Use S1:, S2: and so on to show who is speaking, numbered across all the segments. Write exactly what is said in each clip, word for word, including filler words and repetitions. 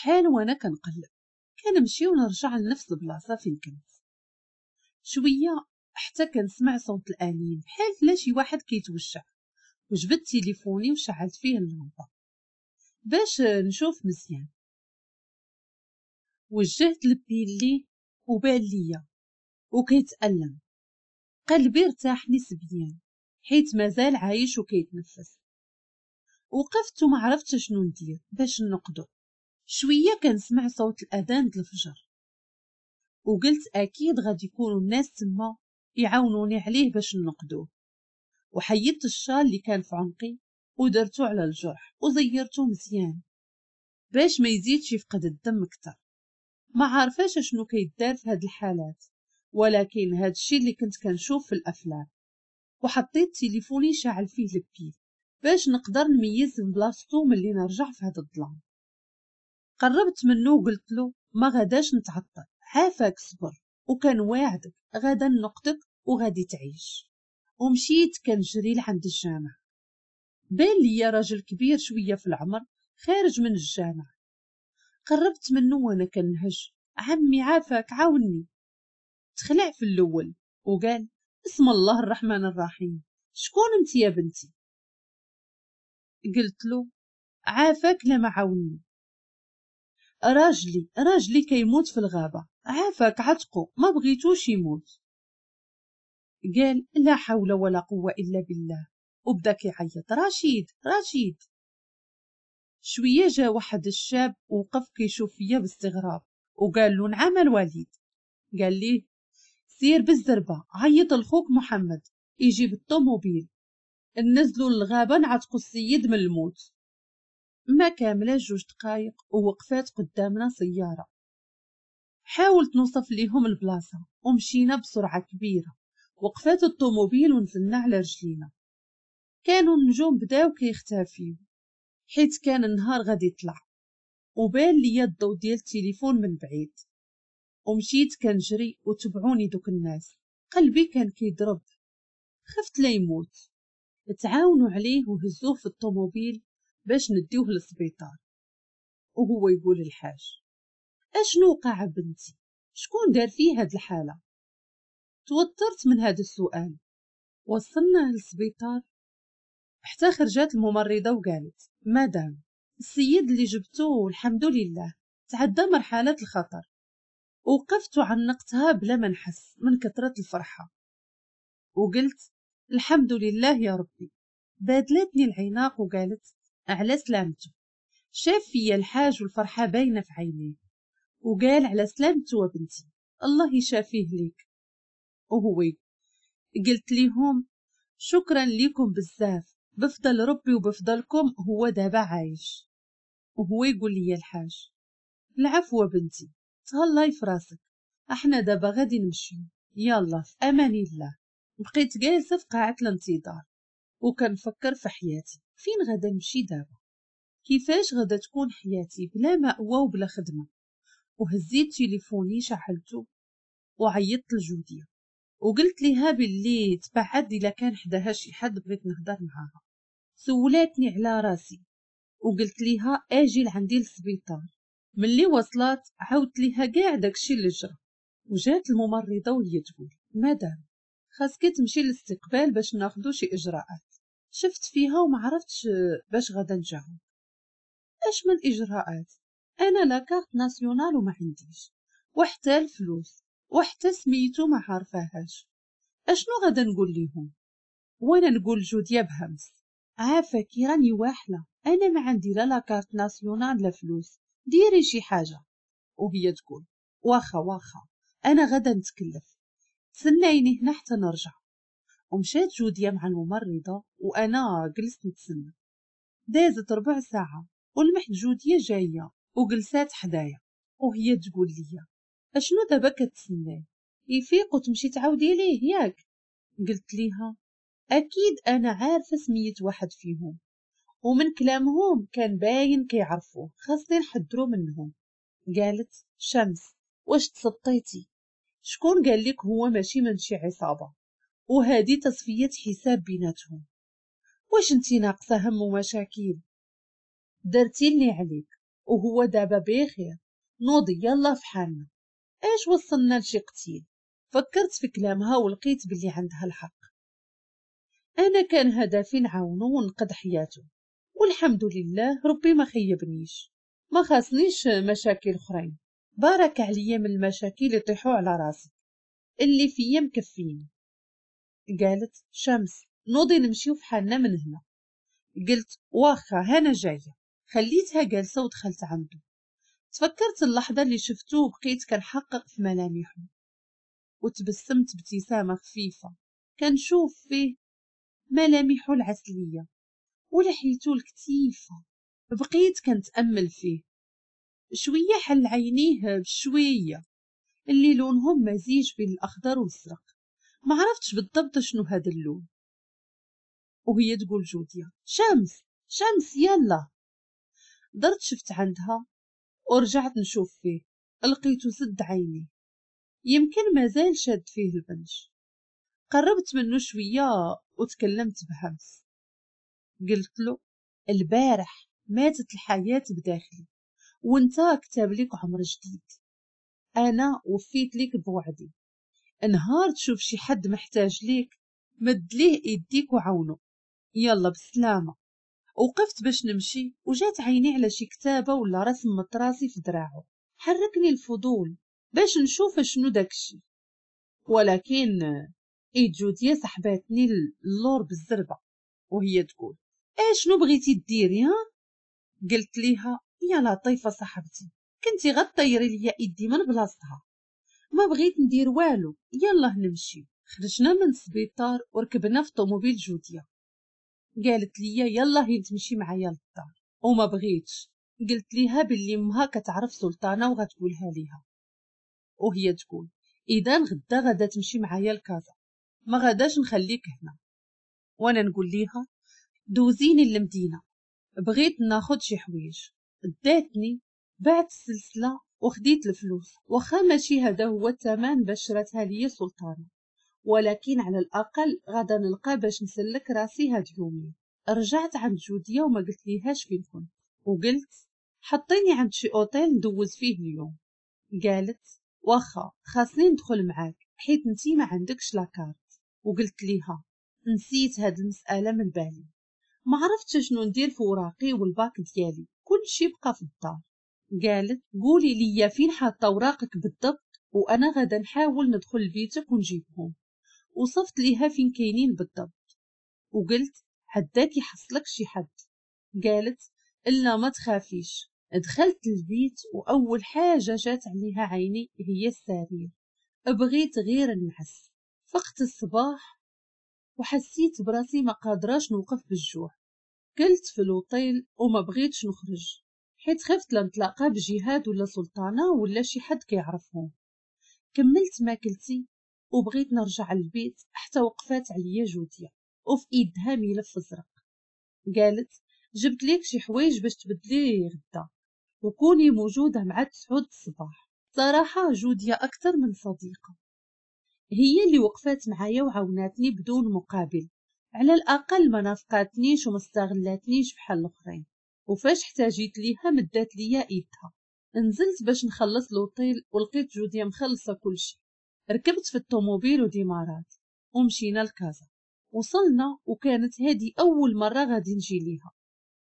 S1: شحال وانا كنقلب، كنمشي ونرجع لنفس البلاصة فين كنت. شوية حتى كنسمع صوت الانين بحال لا شي واحد كيتوشع، وجبدت تليفوني وشعلت فيه اللمبة باش نشوف مزيان. وجهت ال pile ليه وبان ليا وكيتألم. قلبي ارتاح نسبيا حيت مازال عايش وكيتنفس. وقفت وما عرفتش شنو ندير باش نقدو. شوية كنسمع صوت الاذان د الفجر، وقلت اكيد غادي يكونوا الناس تما يعاونوني عليه باش نقدوه. وحيدت الشال اللي كان في عنقي ودرتو على الجرح وزيرتو مزيان باش ما يزيدش يفقد الدم اكثر. ما عارفاش شنو كيدار في هاد الحالات، ولكن هاد الشيء اللي كنت كنشوف في الافلام. وحطيت تليفوني شاعل فيه ال pile باش نقدر نميز بلاصتو ملي نرجع في هاد الظلام. قربت منه وقلت له ما غاداش نتعطل، عافاك صبر، وكان واعدك غادا نقدك وغادي تعيش. ومشيت كنجري لعند الجامع. بان ليا راجل كبير شوية في العمر خارج من الجامع. قربت منه وانا كنهج، عمي عافاك عاوني. تخلع في الاول وقال اسم الله الرحمن الرحيم، شكون انت يا بنتي؟ قلت له عافاك لما عاوني، راجلي راجلي كيموت في الغابة، عافاك عتقو، ما بغيتوش يموت. قال لا حول ولا قوة إلا بالله، وبدا كيعيط رشيد رشيد. شوية جا واحد الشاب وقف كيشوف فيا باستغراب وقال له نعم الوليد. قال ليه سير بالزربة عيط لخوك محمد يجيب الطوموبيل، نزلوا للغابة نعتقوا السيد من الموت. ما كاملة جوج دقايق ووقفات قدامنا سيارة. حاولت نوصف ليهم البلاصة ومشينا بسرعة كبيرة. وقفات الطوموبيل ونزلنا على رجلينا. كانوا النجوم بداو كيختفيو حيت كان النهار غادي يطلع، وبان ليا الضو ديال التليفون من بعيد. ومشيت كنجري وتبعوني دوك الناس. قلبي كان كيضرب، خفت لا يموت. تعاونوا عليه وهزوه في الطوموبيل باش نديوه للسبيطار. وهو يقول الحاج اشنو وقع بنتي؟ شكون دار فيه هاد الحالة؟ توترت من هذا السؤال. وصلنا للسبيطار حتى خرجت الممرضة وقالت مدام السيد اللي جبتوه الحمد لله تعدى مرحلة الخطر. وقفت وعنقتها بلا ما نحس من كثرة الفرحة وقلت الحمد لله يا ربي. بادلتني العناق وقالت على سلامته. شاف فيا الحاج والفرحة باينة في عينيه وقال على سلامته وبنتي الله يشافيه ليك. وهو قلت ليهم شكرا ليكم بزاف، بفضل ربي وبفضلكم هو دابا عايش. وهو يقول لي الحاج العفو بنتي، تهلاي في راسك، احنا دابا غادي نمشيو، يلا في امان الله. بقيت جالسة في قاعة الانتظار وكنفكر في حياتي، فين غادا نمشي دابا؟ كيفاش غادا تكون حياتي بلا مأوى وبلا خدمة؟ وهزيت تليفوني شعلته وعيطت لجوديه وقلت ليها باللي تبعد الا كان حداها شي حد بغيت نهضر معاها. سولاتني على راسي وقلت ليها اجي لعندي للسبيطار. ملي وصلت عاودت ليها كاع داكشي اللي جرى. وجات الممرضة وهي تقول مدام خاصك تمشي للاستقبال باش ناخدو شي اجراءات. شفت فيها وما عرفتش باش غادا نجاوب. اش من اجراءات؟ انا la carte nationale وما عنديش، وحتى الفلوس، وحتى سميتو ما عارفاهاش. اشنو غادا نقول ليهم؟ وانا نقول جوديا بهمس عافاكي راني واحله، انا ما عندي لا la carte nationale لا فلوس، ديري شي حاجة. وهي تقول واخا واخا انا غادا نتكلف، تسنايني هنا حتى نرجع. ومشات جوديا مع الممرضة وانا جلست نتسنى. دازت ربع ساعة ولمحت جوديا جاية وجلسات حدايا وهي تقول لي اشنو دابا كتسناي؟ يفيق وتمشي تعاودي ليه ياك؟ قلت ليها اكيد انا عارفه سميت واحد فيهم، ومن كلامهم كان باين كيعرفوه، خاصني نحضرو منهم. قالت شمس واش تسطيتي؟ شكون قال لك هو ماشي من شي عصابة وهذه تصفية حساب بيناتهم؟ واش انتي ناقصه هم ومشاكل؟ درتي اللي عليك وهو دابا بخير، نوضي يلا في حالنا. اش وصلنا لشي قتيل؟ فكرت في كلامها ولقيت باللي عندها الحق. انا كان هدفي نعاونو ونقد حياته، والحمد لله ربي ما خيبنيش، ما خاصنيش مشاكل اخرين. بارك عليا من المشاكل اللي طيحوا على راسي، اللي فيا مكفيني. قالت شمس نوضي نمشيو في حالنا من هنا. قلت واخا هانا جاية. خليتها جالسة ودخلت عنده. تفكرت اللحظة اللي شفتو وبقيت كنحقق في ملامحه، وتبسمت ابتسامة خفيفة كنشوف فيه ملامحه العسليه ولحيته الكتيفه. بقيت كنتامل فيه شوية. حل عينيه بشوية اللي لونهم مزيج بين الاخضر والازرق، ما عرفتش بالضبط شنو هذا اللون. وهي تقول جوديا شمس شمس يلا. درت شفت عندها ورجعت نشوف فيه، لقيته سد عيني، يمكن مازال شاد فيه البنج. قربت منه شوية وتكلمت بهمس، قلت له البارح ماتت الحياة بداخلي وانت كتاب لك عمر جديد، انا وفيت لك بوعدي. نهار تشوف شي حد محتاج ليك مد ليه ايديك وعاونو. يلا بالسلامة. وقفت باش نمشي وجات عيني على شي كتابه ولا رسم مطراسي في دراعو. حركني الفضول باش نشوف شنو داكشي، ولكن ايد جوديا سحباتني اللور بالزربه وهي تقول ايه شنو بغيتي ديري ها؟ قلت ليها يا لطيفة صاحبتي كنتي غطيري ليا ايدي من بلاصتها، ما بغيت ندير والو، يلا نمشي. خرجنا من السبيطار وركبنا في طوموبيل جوديا. قالت لي يلا هي تمشي معايا للدار، وما بغيتش. قلت ليها باللي امها كتعرف سلطانه وغتقولها ليها، وهي تقول اذا غدا غدا تمشي معايا لكازا، ما غاداش نخليك هنا. وانا نقول ليها دوزيني للمدينة بغيت ناخد شي حوايج. داتني بعت السلسلة وخديت الفلوس، واخا ماشي هذا هو الثمن باش شراتها ليا سلطانه، ولكن على الاقل غادا نلقى باش نسلك راسي هاد اليومين. رجعت عند جوديا وما قلت ليهاش فين كنت، وقلت حطيني عند شي اوتيل ندوز فيه اليوم. قالت واخا خاصني ندخل معاك حيت انتي ما عندكش la carte. وقلت ليها نسيت هاد المسالة من بالي، ما عرفتش شنو ندير في وراقي والباك ديالي، كلشي بقى في الدار. قالت قولي لي فين حاطه وراقك بالضبط وانا غادا نحاول ندخل لبيتك ونجيبهم. وصفت ليها فين كاينين بالضبط، وقلت حداك يحصلك شي حد. قالت الا ما تخافيش. دخلت البيت واول حاجة جات عليها عيني هي السرير، بغيت غير نعس. فقت الصباح وحسيت براسي ما قادراش نوقف بالجوع. كلت في الوطيل وما بغيتش نخرج حيت خفت لنتلاقى بجهاد ولا سلطانه ولا شي حد كيعرفهم. كملت ماكلتي وبغيت نرجع للبيت حتى وقفات عليا جوديا وفي ايدها ملف ازرق. قالت جبت ليك شي حوايج باش تبدلي غدا وكوني موجودة مع تسعود الصباح. صراحة جوديا اكثر من صديقه، هي اللي وقفات معايا وعاوناتني بدون مقابل، على الاقل ما نافقاتنيش وما استغلاتنيش بحال الاخرين. وفاش احتاجيت ليها مدات ليا ايدها. نزلت باش نخلص l'hôtel ولقيت جوديا مخلصة كلشي. ركبت في الطوموبيل وديمارات ومشينا لكازا. وصلنا وكانت هذه اول مرة غادي نجي ليها.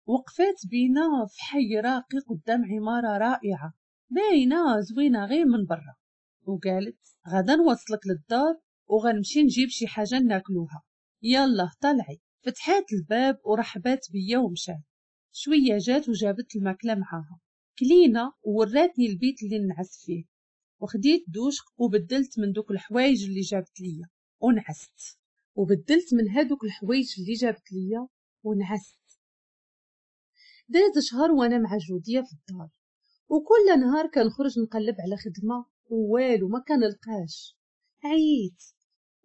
S1: وقفات بينا في حي راقي قدام عمارة رائعة باينة زوينة غير من برا، وقالت غدا نوصلك للدار وغنمشي نجيب شي حاجة ناكلوها، يلا طلعي. فتحات الباب ورحبات بيا ومشات. شوية جات وجابت الماكلة معاها، كلينا ووراتني البيت اللي نعس فيه، وخديت دوش وبدلت من دوك الحوايج اللي جابت ليا ونعست، وبدلت من هادوك الحوايج اللي جابت ليا ونعست. داز شهر وانا مع جوديا في الدار، وكل نهار كنخرج نقلب على خدمة ووالو ما كنلقاش. عييت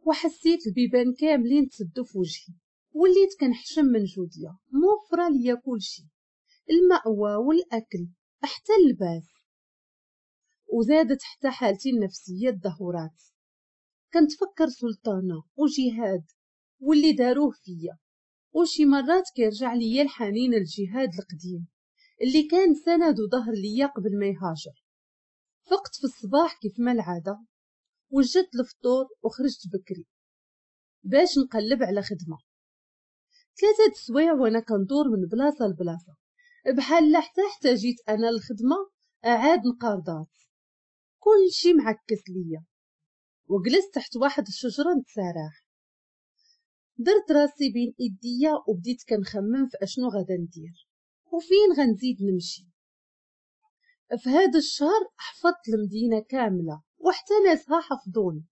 S1: وحسيت البيبان كاملين تسدوا في وجهي، وليت كنحشم من جوديا موفره ليا كلشي، المأوى والاكل حتى اللباس. وزادت حتى حالتي النفسية تدهورات. كنتفكر سلطانه وجهاد واللي داروه فيا، وشي مرات كيرجع ليا الحنين الجهاد القديم اللي كان سند وظهر ليا قبل ما يهاجر. فقت في الصباح كيف ما العادة، وجدت الفطور وخرجت بكري باش نقلب على خدمة. ثلاثة السوايع وانا كندور من بلاصة لبلاصه، بحال حتى احتاجيت انا الخدمة عاد نقارضات، كل شي معكس ليا. وجلست تحت واحد الشجرة نتساراح، درت راسي بين ايديا وبديت كنخمم في اشنو غادا ندير وفين غنزيد نمشي. في هذا الشهر حفظت المدينة كاملة وحتى ناسها حفظوني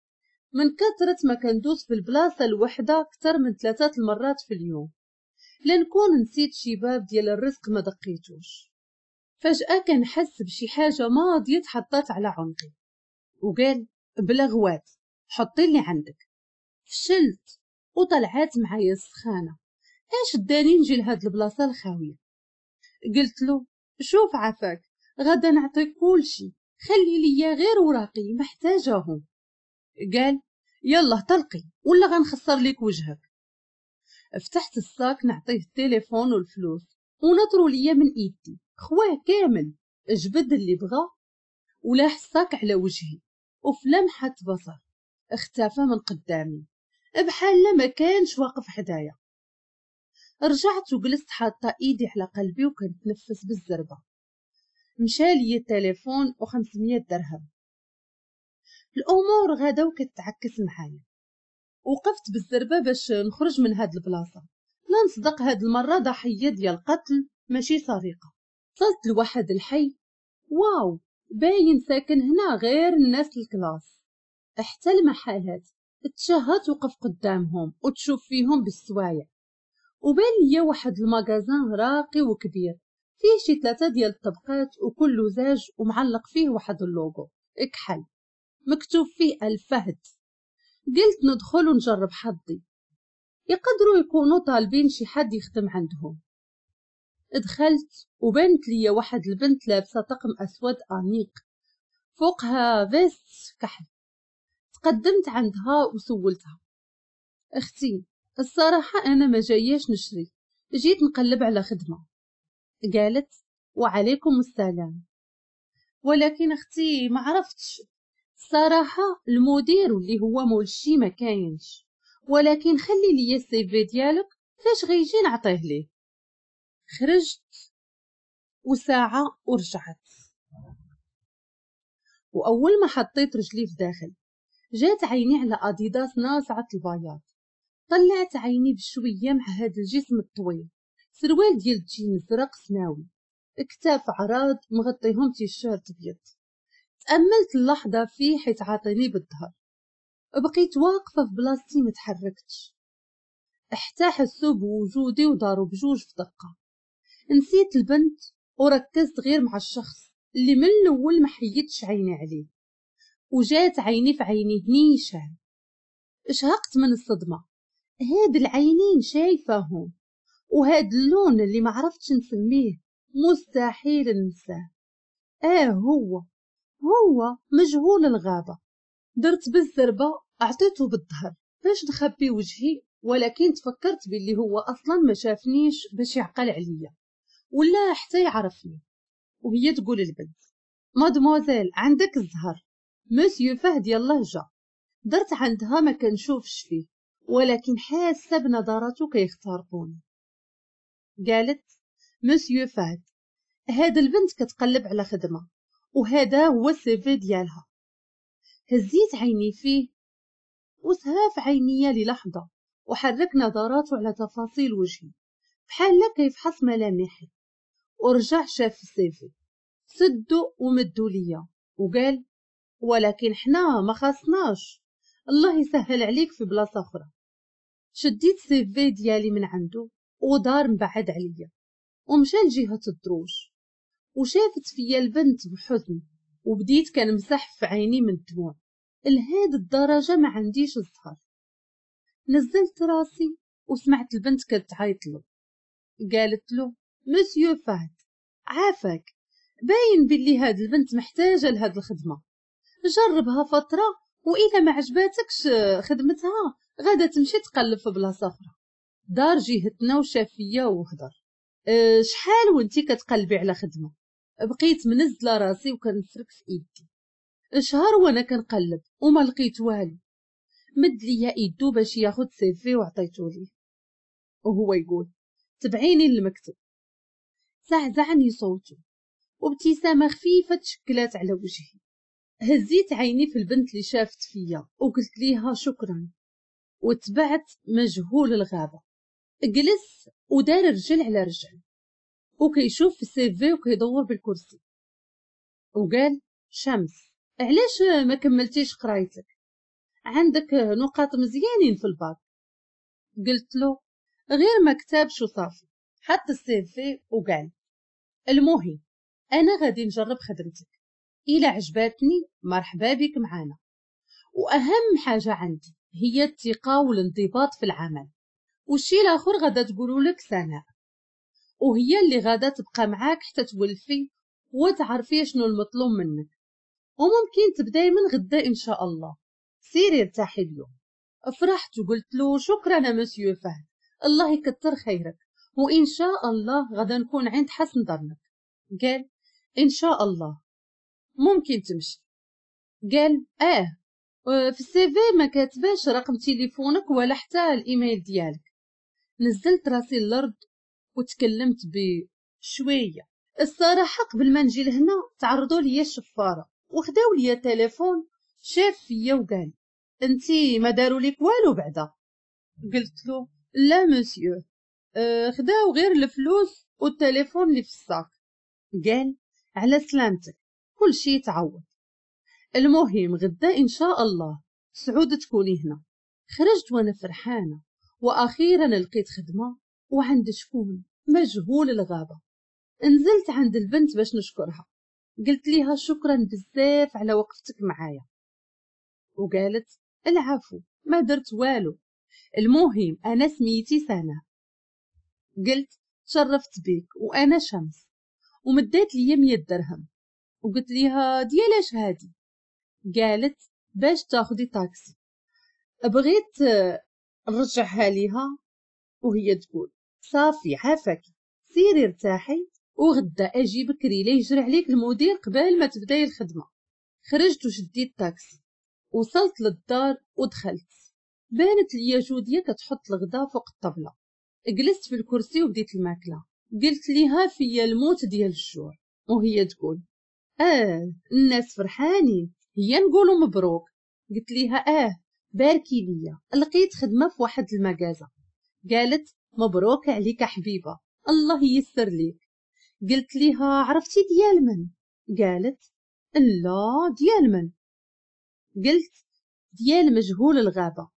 S1: من كثرة ما كندوز في البلاصة الوحدة اكثر من ثلاثة المرات في اليوم، لنكون نسيت شي باب ديال الرزق ما دقيتوش. فجاة كنحس بشي حاجة ماضيه تحطات على عنقي وقال بلا غوات حطي اللي عندك. فشلت وطلعات معايا السخانه، اش داني نجي لهاد البلاصة الخاويه؟ قلت له شوف عافاك غادا نعطيك كلشي، خلي ليا غير وراقي محتاجاهم. قال يلا طلقي ولا غنخسر ليك وجهك. فتحت ال sac نعطيه التليفون والفلوس ونطروا ليا من ايدي، خواه كامل، جبد اللي بغا ولاح ال sac على وجهي، وفي لمحه بصر اختفى من قدامي بحال ما كانش واقف حدايا. رجعت وجلست حاطه ايدي على قلبي وكنتنفس بالزربه. مشى لي التليفون وخمسمية درهم. الامور غادا وكتعكس معايا. وقفت بالزربه باش نخرج من هاد البلاصة، لا نصدق هاد المرة ضحية ديال قتل ماشي سرقه. وصلت لواحد الحي، واو باين ساكن هنا غير الناس ال classe، حتى المحلات تشهى توقف قدامهم وتشوف فيهم بالسوايع. وبان ليا واحد ال magasin راقي وكبير فيه شي ثلاثة ديال الطبقات وكله زاج ومعلق فيه واحد اللوغو اكحل مكتوب فيه الفهد. قلت ندخل ونجرب حظي، يقدروا يكونوا طالبين شي حد يخدم عندهم. دخلت وبانت ليا واحد البنت لابسه طقم اسود انيق فوقها veste كحل. تقدمت عندها وسولتها، اختي الصراحة انا ما جاياش نشري، جيت نقلب على خدمة. قالت وعليكم السلام، ولكن اختي ما عرفتش الصراحة المدير واللي هو مول الشي ما كاينش، ولكن خلي لي ال CV ديالك فاش غيجي نعطيه ليه. خرجت وساعة ورجعت، واول ما حطيت رجلي في داخل جات عيني على اديداس ناصعه البياض. طلعت عيني بشوية مع هذا الجسم الطويل، سروال ديال الجين زرق سماوي، كتاف عراض مغطيهم تيشيرت ابيض. تأملت اللحظة فيه حيت عاطيني بالظهر، بقيت واقفة في بلاصتي ما تحركتش حتى حسوا بوجودي وداروا بجوج في دقه. نسيت البنت وركزت غير مع الشخص اللي من الاول ما حيدتش عيني عليه، وجات عيني في عينيه نيشان. شهقت من الصدمة، هاد العينين شايفاهم وهاد اللون اللي ما عرفتش نسميه مستحيل ننساه. اه هو هو مجهول الغابة. درت بالزربه اعطيته بالظهر باش نخبي وجهي، ولكن تفكرت باللي هو اصلا ما شافنيش باش يعقل عليا ولا حتى يعرفني. وهي تقول البنت مادموزيل عندك الزهر، مسيو فهد يلاه جا. درت عندها ما كنشوفش فيه، ولكن حاسه بنظراته كيخترقوني. قالت مسيو فهد هاد البنت كتقلب على خدمة وهذا هو ال CV ديالها. هزيت عيني فيه وسها في عينيا للحظة وحرك نظراته على تفاصيل وجهي بحال كيفحص ملامحي، ورجع شاف ال CV سدو ومدو ليا وقال ولكن حنا ما خاصناش، الله يسهل عليك في بلاصة اخرى. شديت CV ديالي من عنده ودار مبعد عليا ومشى لجهة الدروج، وشافت فيا البنت بحزن وبديت كنمسح في عيني من الدموع. لهاد الدرجة ما عنديش الزهر. نزلت راسي وسمعت البنت كتعيط له، قالت له مسيو فهد عافاك، باين باللي هاد البنت محتاجه لهاد الخدمة، جربها فترة واذا ما عجباتكش خدمتها غادا تمشي تقلب في بلاصة اخرى. دار جهتنا وشاف فيا وهضر، أه شحال وانتي كتقلبي على خدمة؟ بقيت منزله راسي وكنفرك في ايدي. شهر وانا كنقلب وما لقيت والو. مد ليا ايدو باش ياخد CV وعطيتو ليه، وهو يقول تبعيني للمكتب. زعزعني صوته وابتسامه خفيفة تشكلات على وجهي. هزيت عيني في البنت اللي شافت فيا وقلت ليها شكرا، وتبعت مجهول الغابة. جلس ودار رجل على رجل وكيشوف في ال CV وكيدور بالكرسي وقال شمس علاش ما كملتيش قرايتك؟ عندك نقاط مزيانين في الباك. قلت له غير ما كتابش وصافي. حط ال CV وقال المهم انا غادي نجرب خدمتك، الى عجباتني مرحبا بك معانا، واهم حاجة عندي هي الثقة والانضباط في العمل، والشي الاخر غادا تقولوا لك سناء، وهي اللي غادا تبقى معاك حتى تولفي وتعرفي شنو المطلوب منك، وممكن تبداي من غدا ان شاء الله. سيري ارتاحي اليوم. فرحت وقلت له شكرا مسيو فهد، الله يكثر خيرك، وان شاء الله غادا نكون عند حسن ظنك. قال ان شاء الله ممكن تمشي. قال اه في ال CV ما كاتباش رقم تليفونك ولا حتى الايميل ديالك. نزلت راسي الارض وتكلمت بشوية. الصراحة قبل ما نجي لهنا تعرضوا لي الشفاره وخداو لي تليفون. شاف فيا وقال انتي ما داروا لك والو بعدا؟ قلت له لا مسيو، اه خداو غير الفلوس والتليفون اللي في ال sac. قال على سلامتك كل شيء تعوض، المهم غدا ان شاء الله سعود تكوني هنا. خرجت وانا فرحانة، واخيرا لقيت خدمة وعند شكون؟ مجهول الغابة. نزلت عند البنت باش نشكرها، قلت ليها شكرا بزاف على وقفتك معايا، وقالت العفو ما درت والو، المهم انا سميتي سناء. قلت تشرفت بك وانا شمس، ومدات لي مية درهم وقلت ليها ديالاش هادي؟ قالت باش تاخدي طاكسي. بغيت نرجعها ليها وهي تقول صافي عافاك سيري ارتاحي وغدا اجي بكري لا يجري عليك المدير قبل ما تبداي الخدمة. خرجت وشديت طاكسي، وصلت للدار ودخلت. بانت ليا جوديه كتحط الغدا فوق الطبلة. جلست في الكرسي وبديت الماكلة. قلت ليها فيا الموت ديال الجوع، وهي تقول اه الناس فرحانين، هي نقولوا مبروك. قلت ليها اه باركي ليا لقيت خدمة في واحد المكازه. قالت مبروك عليك حبيبه الله ييسر ليك. قلت ليها عرفتي ديال من؟ قالت لا ديال من؟ قلت ديال مجهول الغابة،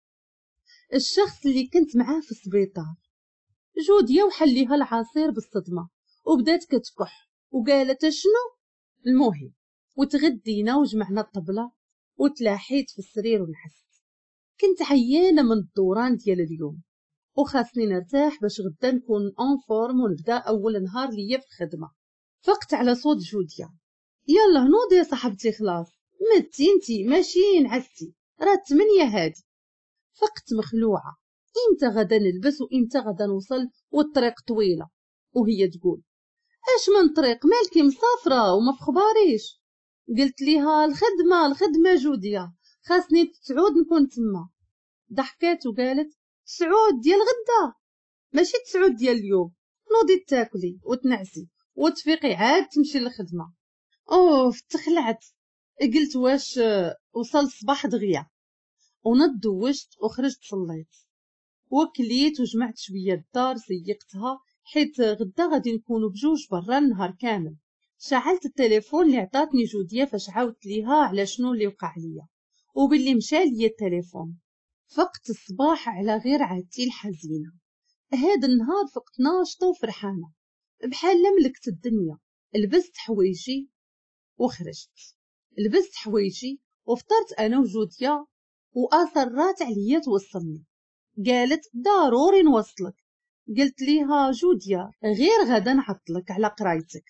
S1: الشخص اللي كنت معاه في السبيطار. جوديه وحليها العصير بالصدمة وبدات كتكح وقالت شنو؟ المهم وتغدينا وجمعنا الطبلة وتلاحيت في السرير ونعست. كنت عيانه من الدوران ديال اليوم وخاصني نرتاح باش غدا نكون en forme ونبدا اول نهار ليا في الخدمة. فقت على صوت جوديه، يلا نوضي يا صاحبتي خلاص متي انتي ماشي نعستي راه تمنية هادي. فقت مخلوعه، امتى غدا نلبس وامتى غدا نوصل والطريق طويلة. وهي تقول اش من طريق مالكي مسافرة وما في خباريش؟ قلت ليها الخدمة الخدمة جوديه خاصني تسعود نكون تما. ضحكات وقالت تسعود ديال غدا ماشي تسعود ديال اليوم، نوضي تاكلي وتنعسي وتفيقي عاد تمشي للخدمة. اوف تخلعت، قلت واش وصل الصباح دغيا. ونض دوشت وخرجت صليت وكليت وجمعت شوية الدار سيقتها حيت غدا غادي نكونوا بجوج برا النهار كامل. شعلت التليفون اللي عطاتني جوديه فاش عاودت ليها على شنو اللي وقع ليا وباللي مشى ليا التليفون. فقت الصباح على غير عادتي الحزينة. هذا النهار فقت ناشطة وفرحانه بحال ملكت الدنيا. لبست حوايجي وخرجت، لبست حوايجي وفطرت انا وجوديه واصرات عليا توصلني. قالت ضروري نوصلك. قلت ليها جوديه غير غدا نعطلك على قرايتك.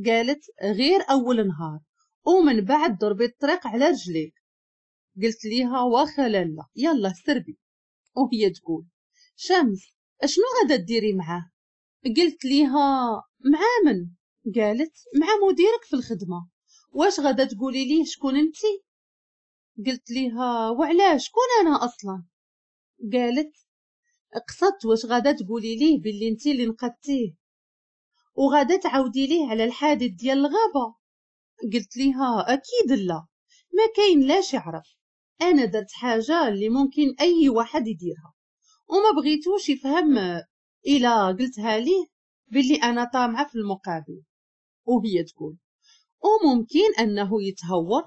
S1: قالت غير اول نهار ومن بعد ضربي الطريق على رجليك. قلت ليها واخا لالا يلا سربي. وهي تقول شمس اشنو غادا ديري معاه؟ قلت ليها مع من؟ قالت مع مديرك في الخدمة، واش غادا تقولي ليه شكون انتي؟ قلت ليها وعلاش شكون انا اصلا؟ قالت قصدت واش غادا تقولي ليه باللي انتي اللي نقدتيه وغادا تعاودي ليه على الحادث ديال الغابة. قلت ليها اكيد لا، ما كاين لاش يعرف، انا درت حاجة اللي ممكن اي واحد يديرها وما بغيتوش يفهم الا قلتها ليه باللي انا طامعه في المقابل. وهي تقول وممكن انه يتهور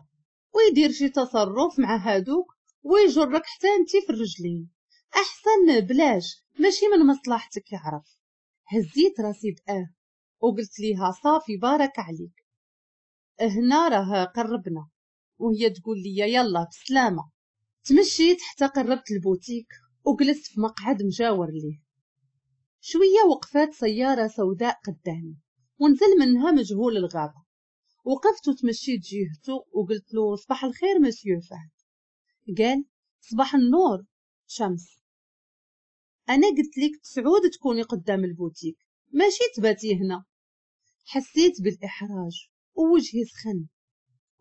S1: ويدير شي تصرف مع هادوك ويجرك حتى انتي في الرجلين، احسن بلاش، ماشي من مصلحتك يعرف. هزيت راسي باه وقلت ليها صافي بارك عليك، هنا راه قربنا. وهي تقول لي يلا بسلامه. تمشيت حتى قربت البوتيك وجلست في مقعد مجاور ليه. شوية وقفات سيارة سوداء قدامي ونزل منها مجهول الغابة. وقفت وتمشيت جهته وقلت له صباح الخير مسيو فهد. قال صباح النور شمس، انا قلت لك تسعود تكوني قدام البوتيك ماشي تباتي هنا. حسيت بالاحراج ووجهي سخن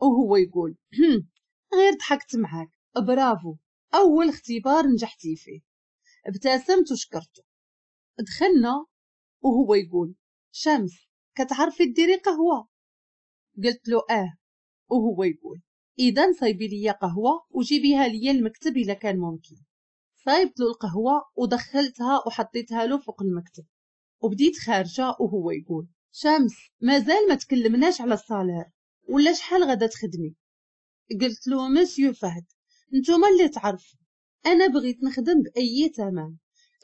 S1: وهو يقول غير ضحكت معاك، برافو اول اختبار نجحتي فيه. ابتسمت وشكرته. دخلنا وهو يقول شمس كتعرفي ديري قهوة؟ قلت له اه. وهو يقول اذا صايبي لي قهوة وجيبيها لي المكتب الا كان ممكن. صايبت له القهوة ودخلتها وحطيتها له فوق المكتب وبديت خارجه وهو يقول شمس مازال ما تكلمناش على ال salaire ولا شحال غادا تخدمي؟ قلت له مسيو فهد نتوما اللي تعرفوا، انا بغيت نخدم باي ثمن،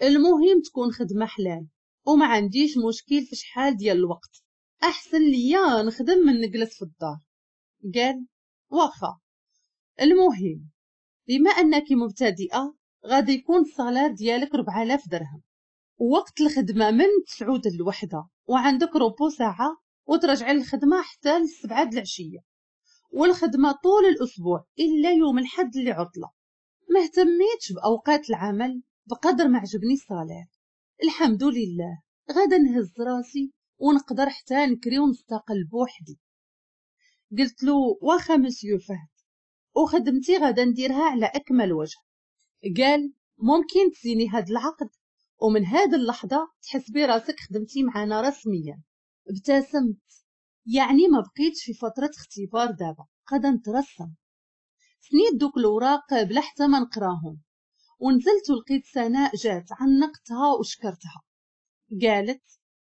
S1: المهم تكون خدمة حلال وما عنديش مشكل في شحال ديال الوقت، احسن ليا نخدم من نجلس في الدار. قال واخا، المهم بما انك مبتدئة غادي يكون ال salaire ديالك أربعة آلاف درهم، ووقت الخدمة من تسعود للوحدة وعندك repos ساعة وترجعي للخدمة حتى للسبعة د العشية، والخدمة طول الاسبوع الا يوم الحد اللي عطله. ما اهتميتش باوقات العمل بقدر ما عجبني ال salaire. الحمد لله غادا نهز راسي ونقدر حتى نكري ونستقل بوحدي. قلت له واخا مسيو فهد، وخدمتي غادا نديرها على اكمل وجه. قال ممكن تسيني هاد العقد ومن هاد اللحظة تحسبي راسك خدمتي معنا رسميا. ابتسمت، يعني ما بقيتش في فترة اختبار دابا، غادا نترسم. سنيت دوك الاوراق بلا حتى ما نقراهم ونزلت ولقيت سناء جات، عنقتها وشكرتها. قالت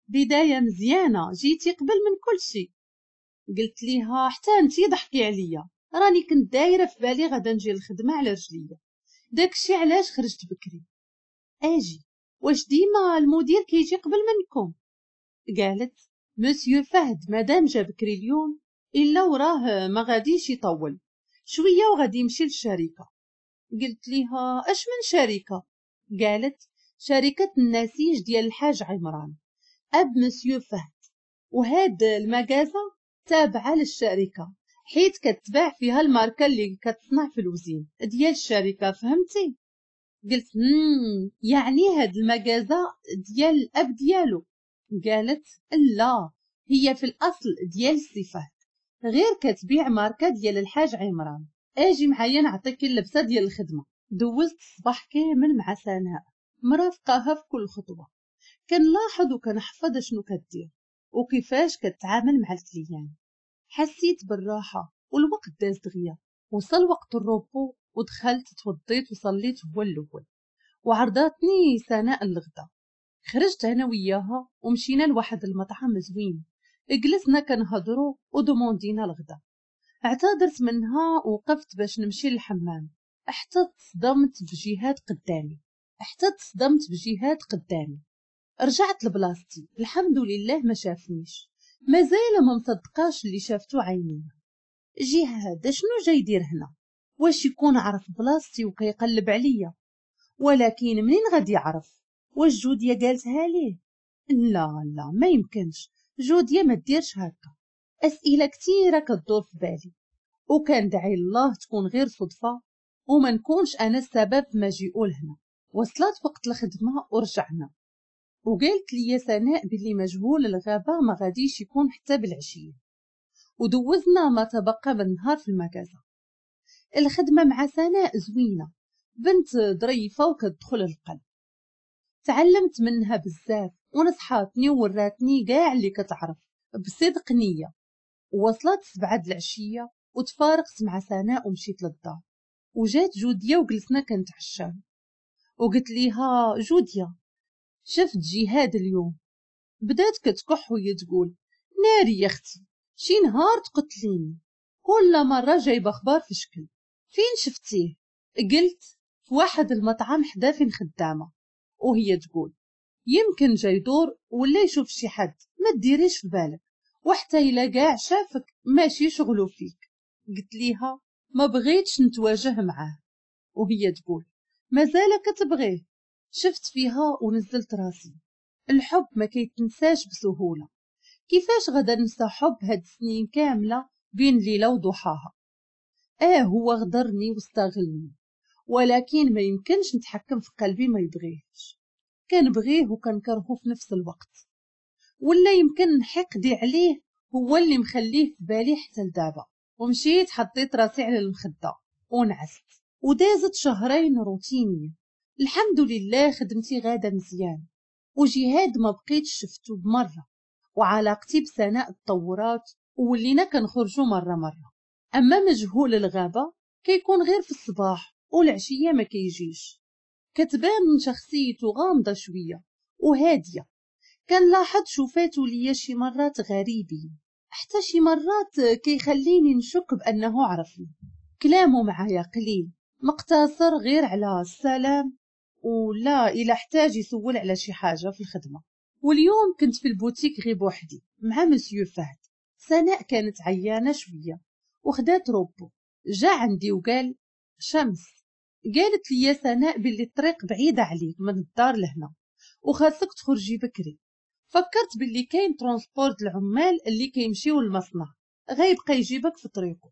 S1: بداية مزيانه، جيتي قبل من كل شيء. قلت ليها حتى انتي ضحكي عليا، راني كنت دايرة في بالي غادا نجي للخدمة على رجليا، داكشي علاش خرجت بكري. اجي واش ديما المدير كيجي قبل منكم؟ قالت مسيو فهد مادام جا بكري اليوم الا وراه ما غاديش يطول شوية وغادي يمشي للشركة. قلت ليها اش من شركة؟ قالت شركة النسيج ديال الحاج عمران اب مسيو فهد، وهاد المكازه تابعه للشركة حيت كتباع فيها الماركة اللي كتصنع في الوزين ديال الشركة، فهمتي؟ قلت مم يعني هاد المكازه ديال الاب ديالو؟ قالت لا، هي في الاصل ديال السي فهد، غير كتبيع ماركة ديال الحاج عمران. اجي معايا نعطيك اللبسه ديال الخدمة. دوزت الصباح كامل مع سناء مرافقاها في كل خطوة، كنلاحظ وكنحفظ شنو كدير وكيفاش كتعامل مع ال client. حسيت بالراحة والوقت داز دغيا. وصل وقت ال repos ودخلت توضيت وصليت هو الاول، وعرضتني سناء الغدا. خرجت انا وياها ومشينا لواحد المطعم زوين، جلسنا كنهضروا ودوموندينا الغدا. اعتذرت منها وقفت باش نمشي للحمام، حتى تصدمت بجهاد قدامي حتى تصدمت بجهاد قدامي. رجعت لبلاصتي، الحمد لله ما شافنيش، مازال ما مصدقاش اللي شافتو عيني. جهاد شنو جاي يدير هنا؟ واش يكون عرف بلاصتي وكيقلب عليا؟ ولكن منين غادي يعرف؟ واش جوديا قالتها ليه؟ لا لا ما يمكنش، جوديا ما ديرش هكا. اسئلة كثيرة كتدور في بالي، وكان دعي الله تكون غير صدفة وما نكونش انا السبب في مجيئو لهنا. وصلت وقت الخدمة ورجعنا. وقالت لي سناء باللي مجهول الغابة ما غاديش يكون حتى بالعشية. ودوزنا ما تبقى من النهار في المكازا. الخدمة مع سناء زوينة، بنت ظريفة وكتدخل القلب، تعلمت منها بزاف ونصحاتني ووراتني كاع اللي كتعرف بصدق نية. وصلت سبعة العشية وتفارقت مع سناء ومشيت للدار، وجات جودية وجلسنا كنتعشاو. وقلت ليها جودية شفت جهاد اليوم. بدات كتكح وهي تقول ناري يا اختي شي نهار تقتليني، كل مرة جايبة اخبار في شكل. فين شفتيه؟ قلت في واحد المطعم حدا فين خدامة. وهي تقول يمكن جاي يدور ولا يشوف شي حد، ما ديريش في بالك، وحتى الا كاع شافك ماشي شغلو فيك. قلت ليها ما بغيتش نتواجه معاه. وهي تقول مازال كتبغيه. شفت فيها ونزلت راسي. الحب ما كيتنساش بسهولة، كيفاش غدا ننسى حب هاد السنين كاملة بين ليلة وضحاها؟ اه هو غدرني واستغلني، ولكن ما يمكنش نتحكم في قلبي ما يبغيهش. كنبغيه وكنكرهه في نفس الوقت، ولا يمكن حقدي عليه هو اللي مخليه في بالي حتى لدابا. ومشيت حطيت راسي على المخدة ونعست. ودازت شهرين روتينية، الحمد لله خدمتي غاده مزيان، وجهاد ما بقيتش شفتو بمرة، وعلاقتي بسناء تطورات وولينا كنخرجوا مرة مرة. اما مجهول الغابة كيكون غير في الصباح والعشيه ما كيجيش. كتبان شخصيته غامضة شوية وهاديه، كنلاحظ شوفاتو ليا شي مرات غريبين، حتى شي مرات كيخليني نشك بانه عرفني. كلامه معايا قليل، مقتصر غير على السلام ولا الى احتاج يسول على شي حاجة في الخدمة. واليوم كنت في البوتيك غير بوحدي مع مسيو فهد. سناء كانت عيانه شوية وخدات repos. جا عندي وقال شمس، قالت لي سناء باللي الطريق بعيدة عليك من الدار لهنا وخاصك تخرجي بكري. فكرت باللي كاين transport العمال اللي كيمشيو للمصنع غيبقى يجيبك في طريقه،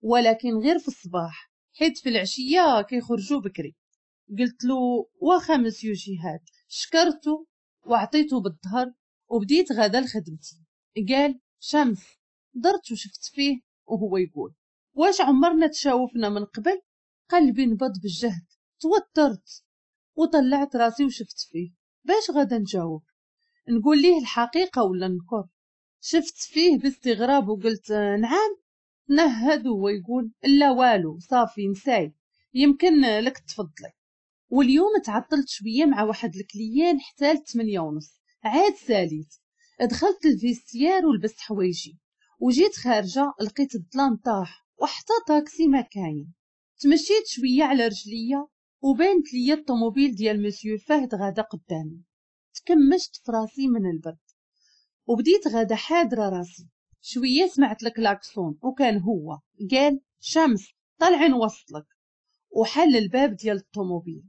S1: ولكن غير في الصباح حيت في العشية كيخرجوا بكري. قلت له واخا مسيو جهاد، شكرته وعطيته بالظهر وبديت غدا لخدمتي. قال شمس، درت وشفت فيه وهو يقول واش عمرنا تشاوفنا من قبل؟ قلبي نبض بالجهد، توترت وطلعت راسي وشفت فيه باش غدا نجاوب، نقول ليه الحقيقة ولا نكر؟ شفت فيه باستغراب وقلت نعم. نهد وهو يقول لا والو صافي نساي، يمكن لك تفضلي. واليوم تعطلت شوية مع واحد ال client حتى لثمانية ونص عاد ساليت. دخلت ال vestiaire ولبست حوايجي وجيت خارجه، لقيت الظلام طاح وحتى طاكسي ما كاين. تمشيت شوية على رجليا وبانت ليا الطوموبيل ديال مسيو فهد غادا قدامي. تكمشت في راسي من البرد وبديت غادا حاضره راسي. شوية سمعت الكلاكسون وكان هو. قال شمس طلعي نوصلك، وحل الباب ديال الطوموبيل.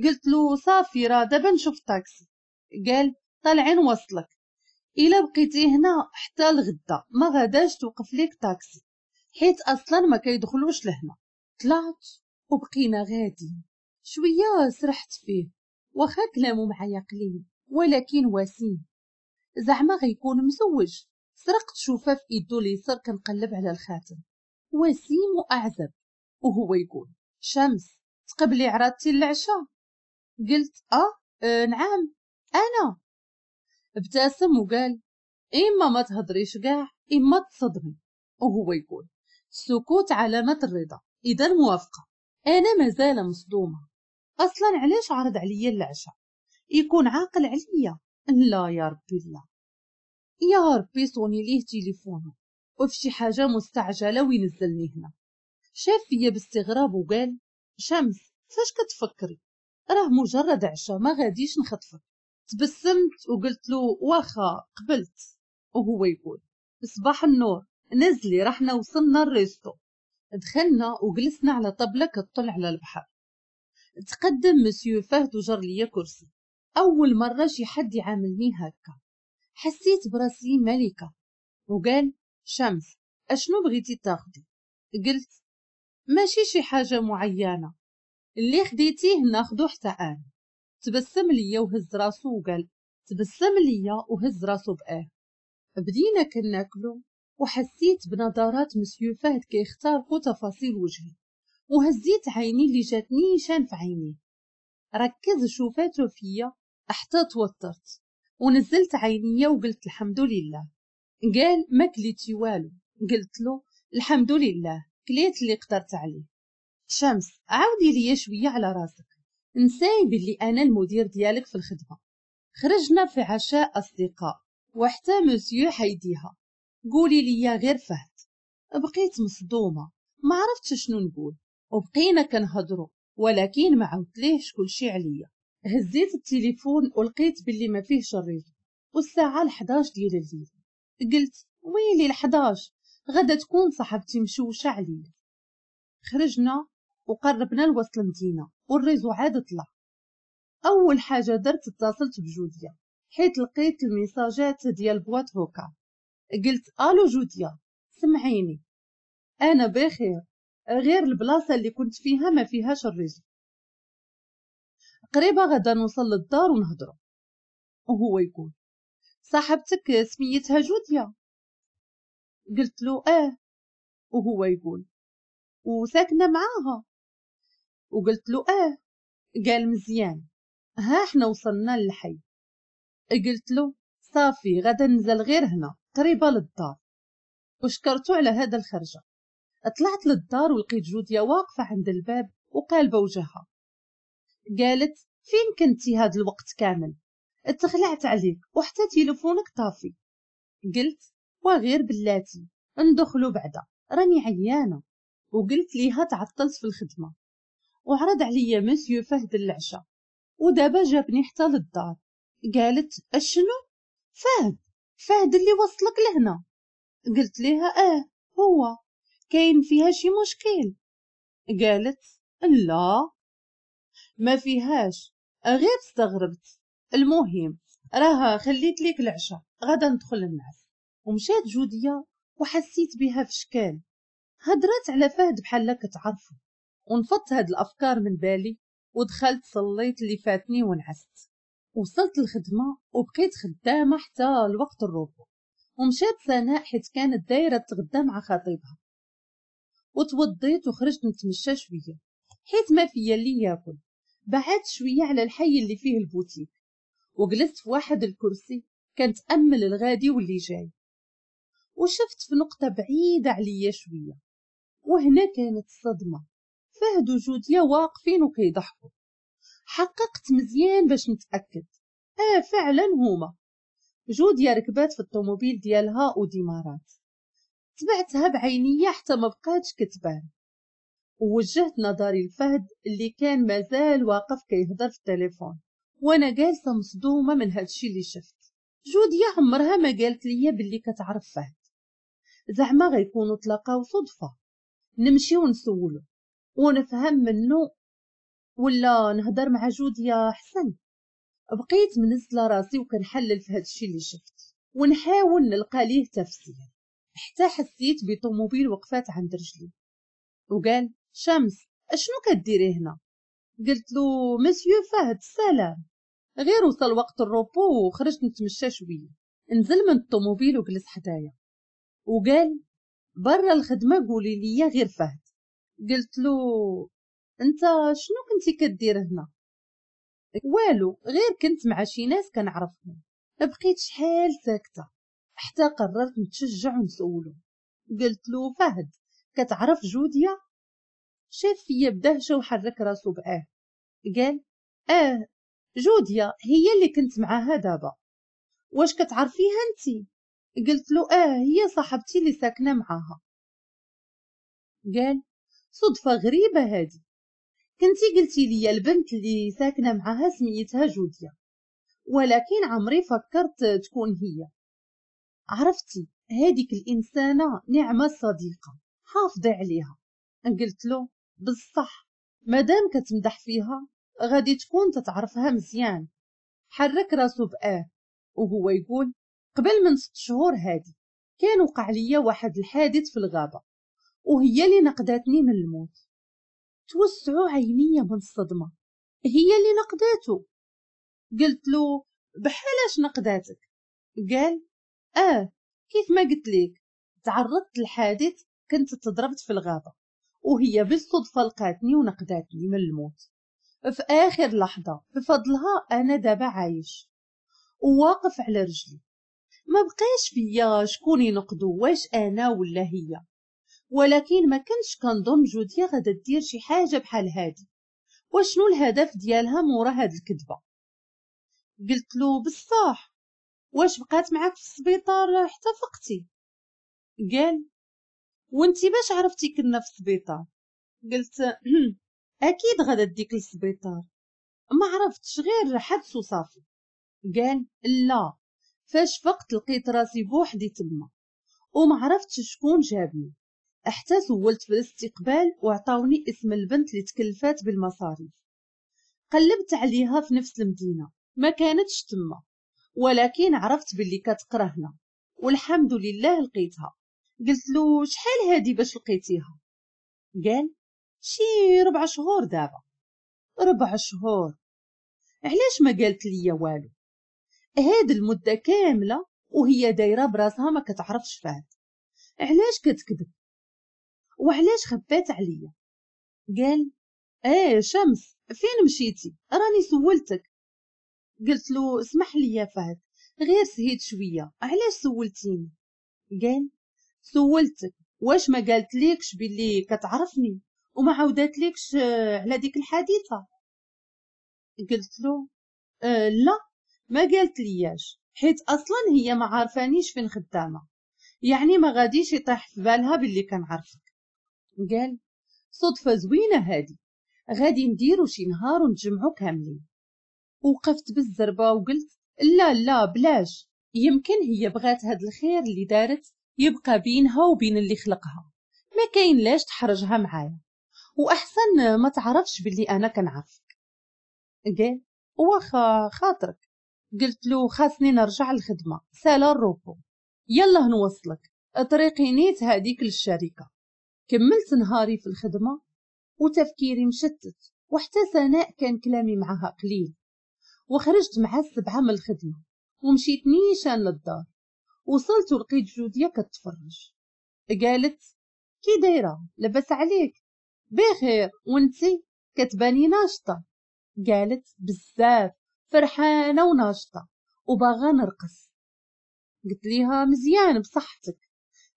S1: قلت له صافي راه دابا نشوف طاكسي. قال طلعي نوصلك، الا بقيتي هنا حتى الغدا ما غاداش توقف ليك طاكسي حيت اصلا ما كيدخلوش لهنا. طلعت وبقينا غادي شوية سرحت فيه، واخا كلامه معايا قليل ولكن وسيم، زعما غيكون مزوج. سرقت شوفه في ايدو اليسار كنقلب على الخاتم، وسيم واعزب. وهو يقول شمس تقبلي عراضتي العشاء؟ قلت اه, آه نعم انا. ابتسم وقال اما ما تهضريش كاع اما تصدمي. وهو يقول السكوت علامة الرضا، اذا موافقة. انا مازال مصدومة، اصلا علاش عرض عليا العشاء؟ يكون عاقل عليا؟ لا يا ربي لا يا ربي. صوني ليه تليفونه وفي شي حاجة مستعجلة وينزلني هنا. شاف فيا باستغراب وقال شمس فاش كتفكري؟ راه مجرد عشاء ما غاديش نخطفك. تبسمت وقلت له واخا قبلت. وهو يقول صباح النور، نزلي رحنا وصلنا ال resto. دخلنا وجلسنا على طبلة كتطل على البحر. تقدم مسيو فهد وجر ليا كرسي. اول مرة شي حد يعاملني هكا، حسيت براسي ملكه. وقال شمس اشنو بغيتي تاخدي؟ قلت ماشي شي حاجة معينة، اللي خديتيه ناخدو حتى انا. تبسم ليا وهز راسو وقال تبسم ليا وهز راسو بآه. بدينا كناكلو وحسيت بنظرات مسيو فهد كيخترقوا تفاصيل وجهي، وهزيت عيني اللي جاتني نيشان في عينيه. ركز شوفاته فيا حتى توترت ونزلت عينيا وقلت الحمد لله. قال ما كليتي والو؟ قلت له الحمد لله كليت اللي قدرت عليه. شمس عاودي ليا شوية على راسك، نساي باللي انا المدير ديالك في الخدمة. خرجنا في عشاء اصدقاء وحتى مسيو حيديها، قولي لي غير فهد. بقيت مصدومة ما عرفتش شنو نقول، وبقينا كنهضروا ولكن ما عاودتليهش كلشي عليا. هزيت التليفون ولقيت باللي ما فيهش ال réseau، والساعة الحداش ديال الليل. قلت ويلي الحداش، غدا تكون صاحبتي مشوشة عليا. خرجنا وقربنا لوسط المدينة وال réseau عاد طلع. اول حاجة درت اتصلت بجوديا حيت لقيت الميساجات ديال boîte vocale. قلت الو جوديا سمعيني، انا بخير، غير البلاصة اللي كنت فيها ما فيهاش ال réseau، قريبه غدا نوصل للدار ونهضروا. وهو يقول صاحبتك سميتها جوديا؟ قلت له اه. وهو يقول وساكنه معاها؟ وقلت له اه. قال مزيان، ها احنا وصلنا للحي. قلت له صافي غدا نزل غير هنا قريبه للدار، وشكرته على هذا الخرجه. طلعت للدار ولقيت جوديا واقفة عند الباب وقالبه وجهها. قالت فين كنتي هاد الوقت كامل؟ اتخلعت عليك وحتى تليفونك طافي. قلت وغير بلاتي ندخلو بعدا راني عيانه. وقلت ليها تعطلت في الخدمة وعرض عليا مسيو فهد العشاء ودابا جابني حتى للدار. قالت اشنو؟ فهد؟ فهد اللي وصلك لهنا؟ قلت ليها اه هو. كاين فيها شي مشكل؟ قالت لا ما فيهاش، غير استغربت. المهم راها خليت ليك العشاء غدا ندخل النعس. ومشات جودية وحسيت بها في شكال، هدرت على فهد بحال كتعرفو. ونفضت هاد الافكار من بالي ودخلت صليت اللي فاتني ونعست. وصلت الخدمة وبقيت خدامه حتى الوقت ال repos. ومشات سناء حيت كانت دايرة تغدى مع خطيبها. وتوضيت وخرجت نتمشى شوية حيت ما فيا اللي ياكل. بعدت شوية على الحي اللي فيه البوتيك وجلست في واحد الكرسي كنتامل الغادي واللي جاي، وشفت في نقطة بعيدة عليا شوية، وهنا كانت الصدمة. فهد وجوديا واقفين وكيضحكوا. حققت مزيان باش نتاكد، اه فعلا هما. جوديا ركبات في الطوموبيل ديالها وديمارات، تبعتها بعينيا حتى ما بقاتش كتبان. ووجهت نظري لفهد اللي كان مازال واقف كيهضر في التليفون، وانا جالسة مصدومة من هادشي اللي شفت. جوديا عمرها ما قالت ليا باللي كتعرف فهد، زعما غيكونوا تلاقاو صدفة، نمشي ونسولو ونفهم منه ولا نهضر مع جوديا احسن. بقيت منزله راسي وكنحلل في هادشي اللي شفت ونحاول نلقى ليه تفسير، حتى حسيت بطوموبيل وقفات عند رجلي وقال شمس اشنو كديري هنا؟ قلت له مسيو فهد السلام، غير وصل وقت ال repos وخرجت نتمشى شوية. نزل من الطوموبيل وجلس حدايا وقال برا الخدمة قولي لي غير فهد. قلت له انت شنو كنتي كدير هنا؟ والو غير كنت مع شي ناس كنعرفهم. بقيت شحال ساكته حتى قررت نتشجع ونسولو. قلت له فهد كتعرف جوديا؟ شاف فيا بدهشه وحرك راسو بآه. قال اه جوديا هي اللي كنت معاها دابا، واش كتعرفيها انتي؟ قلت له اه هي صاحبتي اللي ساكنة معاها. قال صدفة غريبة هادي، كنتي قلتي لي البنت اللي ساكنة معاها سميتها جوديا، ولكن عمري فكرت تكون هي. عرفتي هاديك الانسانة نعمه صديقه، حافظي عليها. قلت له بالصح مادام كتمدح فيها غادي تكون تتعرفها مزيان. حرك راسو بآه وهو يقول قبل من ست شهور هادي كان وقع ليا واحد الحادث في الغابة وهي اللي نقداتني من الموت. توسعوا عينيا من الصدمة، هي اللي نقداتو؟ قلت له بحالاش نقداتك؟ قال اه كيف ما قلت لك، تعرضت لحادث، كنت تضربت في الغابة وهي بالصدفة لقاتني ونقداتني من الموت في آخر لحظة. بفضلها أنا دابا عايش وواقف على رجلي، ما بقاش فيا شكون ينقدو واش أنا ولا هي. ولكن ما كنتش كنظن جوديا غادا دير شي حاجة بحال هادي، وشنو الهدف ديالها مورا هاد الكذبة؟ قلت له بصح واش بقات معاك في السبيطار حتى فقتي؟ قال وانتي باش عرفتي كنا في السبيطار؟ قلت اكيد غادا ديك للسبيطار، ما عرفتش غير حدس وصافي. قال لا، فاش فقت لقيت راسي بوحدي تما وما عرفتش شكون جابني، حتى سولت في الاستقبال وعطاوني اسم البنت اللي تكلفات بالمصاريف. قلبت عليها في نفس المدينة ما كانتش تما، ولكن عرفت باللي كتقرا هنا والحمد لله لقيتها. قلت له شحال هادي باش لقيتيها؟ قال شي ربع شهور دابا. ربع شهور؟ علاش ما قالت لي والو؟ هاد المدة كاملة وهي دايرة براسها ما كتعرفش فهد، علاش كتكذب وعلاش خبات عليا؟ قال ايه شمس فين مشيتي؟ راني سولتك. قلت له اسمح لي يا فهد غير سهيت شوية، علاش سولتيني؟ قال سولتك واش ما قالت ليكش باللي كتعرفني وما عاودات ليكش على ديك الحادثة؟ قلت له أه لا ما قالت لياش، حيت اصلا هي ما عارفانيش فين خدامه، يعني ما غاديش يطيح في بالها باللي كنعرفك. قال صدفة زوينة هادي، غادي نديرو شي نهار ونتجمعو كاملين. وقفت بالزربه وقلت لا لا بلاش، يمكن هي بغات هاد الخير اللي دارت يبقى بينها وبين اللي خلقها، ما كاين لاش تحرجها معايا، واحسن ما تعرفش باللي انا كنعرفك. قال واخا خاطرك. قلت له خاصني نرجع للخدمة، سالا الروبو، يلا نوصلك طريقي نيت هذيك للشركة. كملت نهاري في الخدمة وتفكيري مشتت، وحتى سناء كان كلامي معها قليل. وخرجت مع السبعة من الخدمة ومشيت نيشان للدار. وصلت ولقيت جوديا كتفرج. قالت كي دايرة لاباس عليك؟ بخير وانتي؟ كتباني ناشطة. قالت بزاف فرحانة وناشطه وباغا نرقص. قلت ليها مزيان بصحتك،